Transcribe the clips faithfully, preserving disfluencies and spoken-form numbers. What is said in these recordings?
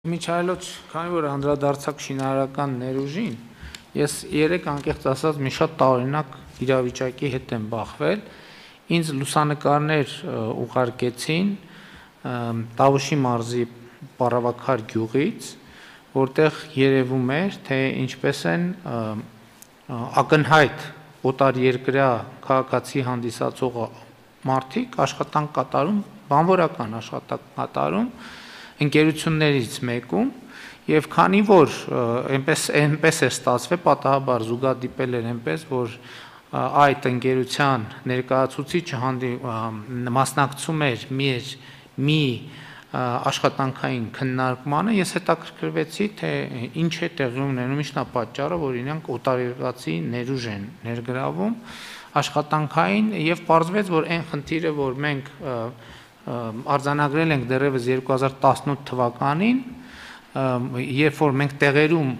Միջայլոց, քանի որ անդրադարձակ շինարարական ներուժին, ես երեք անկեղծ ասած մի շատ տարօրինակ իրավիճակի հետ եմ բախվել, ինձ լուսանկարներ ուղարկեցին Տավուշի մարզի Պառավաքար գյուղից, որտեղ երևում էր, թե ինչպես են ակնհայտ օտարերկրյա քաղաքացի հանդիսացող մարդիկ աշխատանք կատարում, բանվորական աշխատանք կատարում ընկերություններից մեկում եւ քանի որ այնպես այնպես է ստացվել պատահաբար զուգադիպել էր այնպես որ այդ ընկերության ներկայացուցիչը հանդի մասնակցում էր մի մի աշխատանքային քննարկմանը ես հետաքրքրվեցի թե ինչ է տեղի ունենում ինչն է պատճառը որ իրենք օտարերկրացի ներուժ են ներգրավում աշխատանքային եւ պարզվեց որ այն խնդիրը որ մենք արձանագրել ենք դեռևս երկու հազար տասնութ թվականին, երբ որ մենք տեղերում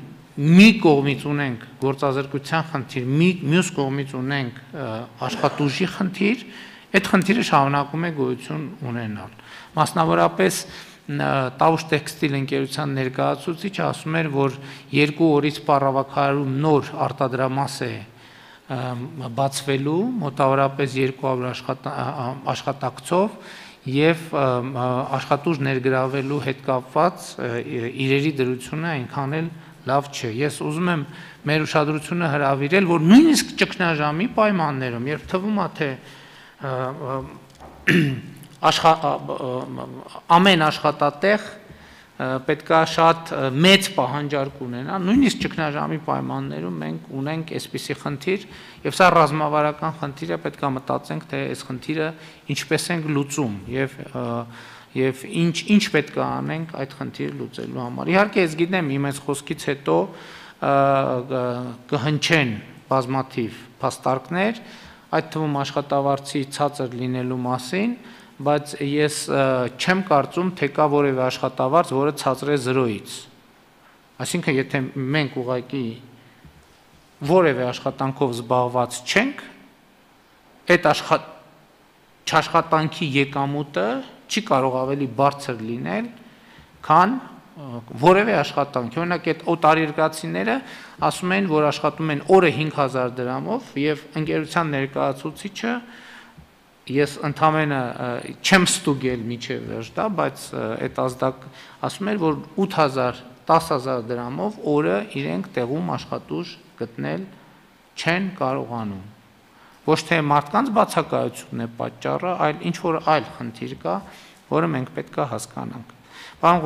մի կողմից ունենք գործազրկության խնդիր, մյուս կողմից ունենք աշխատուժի խնդիր, այդ խնդիրը շարունակում է գոյություն ունենալ։ Մասնավորապես Տավուշ տեքստիլ ընկերության ներկայացուցիչը ասում էր, որ երկու օրից Պառավաքարում նոր արտադրամաս է բացվելու, մոտավորապես երկու հարյուր աշխատակցով եւ աշխատուժ ներգրավելու հետ կապված իրերի դրությունը այնքան էլ լավ չէ։ Ես ուզում եմ մեր ուշադրությունը հրավիրել, որ նույնիսկ ճգնաժամի պայմաններում, երբ թվում է թե ամեն աշխատատեղ պետք է շատ մեծ պահանջարկ ունենա, նույնիսկ ճգնաժամի պայմաններում մենք ունենք այսպիսի խնդիր եւ սա ռազմավարական խնդիր է, պետք է մտածենք թե այս խնդիրը ինչպես ենք լուծում եւ եւ ինչ ինչ պետք է անենք այդ խնդիրը լուծելու համար։ Իհարկե ես գիտեմ իմ այս խոսքից հետո կհնչեն բազմաթիվ փաստարկներ, այդ թվում աշխատավարձի ցածր լինելու մասին, բայց ես չեմ կարծում, թե կա որևէ աշխատավարձ, որը ցածր է զրոյից։ Այսինքն, եթե մենք ուղղակի որևէ աշխատանքով զբաղված չենք, այդ աշխատանքի եկամուտը չի կարող ավելի բարձր լինել, քան որևէ աշխատանք։ Օրինակ, այդ օտարերկրացիները ասում են, որ աշխատում են օրը հինգ հազար դրամով եւ ընկերության ներկայացուցիչը ես ընդամենը չեմ ստուգել միջև վերջ դա, բայց այդ ազդակ ասում էր, որ ութ հազար, տասը հազար դրամով օրը իրենք տեղում աշխատուժ գտնել չեն կարողանում։ Ոչ թե մարդկանց բացակայությունն է պատճառը, այլ ինչ որ այլ խնդիր կա, որը մենք պետք է հասկանանք։ Պարոն